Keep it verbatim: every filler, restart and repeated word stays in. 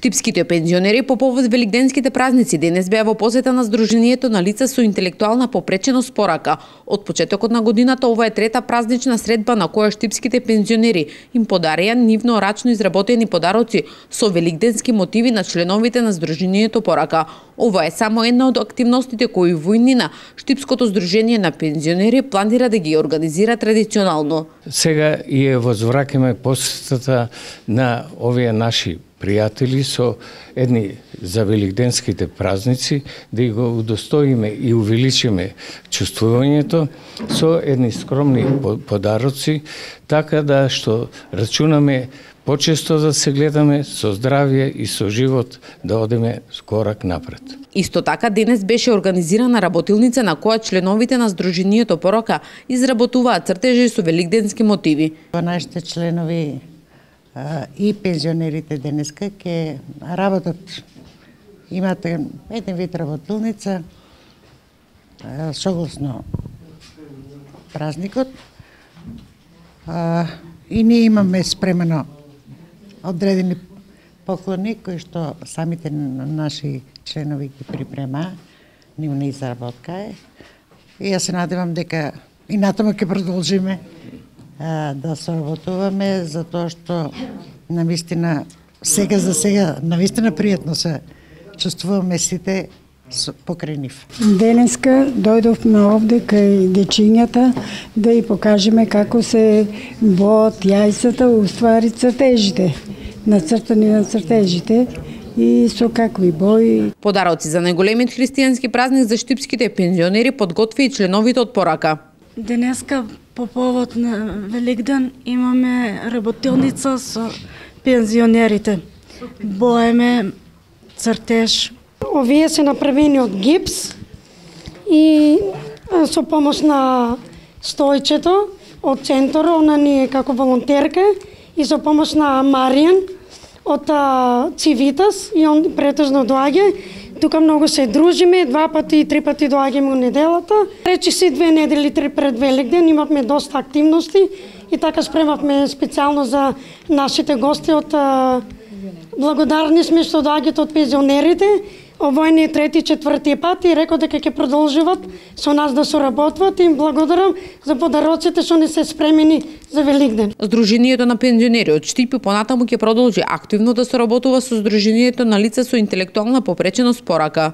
Штипските пензионери по повод великденските празници денес беа во посета на Сдруженијето на лица со интелектуална попреченост порака. Од почетокот на годината ова е трета празнична средба на која штипските пензионери им подарија нивно рачно изработени подароци со великденски мотиви на членовите на Сдруженијето порака. Ова е само една од активностите кои во иднина Штипското Сдружение на пензионери планира да ги организира традиционално. Сега и е возвраќаме посетата на овие наши пријатели со едни за великденските празници, да ги го удостоиме и увеличиме чувствувањето со едни скромни подароци, така да што рачунаме почесто да се гледаме со здравје и со живот да одеме корак напред. Исто така денес беше организирана работилница на која членовите на Сдруженијето порака изработуваат цртежи со великденски мотиви. Нашите членови и пензионерите денеска ќе работат. Имате еден вид работилница согласно празникот. И ние имаме спремено одредени поклони кои што самите наши членови ги припрема, нивна изработка е. И јас се надевам дека и натаму ќе продолжиме да соработуваме, затоа што навистина сега за сега навистина пријатно се чувствуваме сите покрај нив. Денеска дојдовме овде кај дечињата да и покажеме како се боат јајцата, уствари цртежите, нацртани на цртежите и со какви бои. Подароци за најголемиот христијански празник за штипските пензионери подготви и членовите од порака. Денеска по повод на Великден имаме работилница со пензионерите. Боеме цртеж. Овие се направени од гипс и со помош на Стојчето од центарот, она ни е како волонтерка, и со помош на Маријан од Цивитас, и он претежно доаѓа. Тука многу се дружиме, два пати и три пати доаѓаме у неделата. Речи си две недели три пред Великден имавме доста активности и така спремавме специјално за нашите гости од благодарни сме што доаѓаат од пензионерите. Овој не е трети, четврти пат и рекол дека ќе продолжуваат со нас да соработват и им благодарам за подароците што не се спремени за Великден. Сдруженијето на пензионери од Штипи понатаму ќе продолжи активно да соработува со Сдруженијето на лица со интелектуална попреченост порака.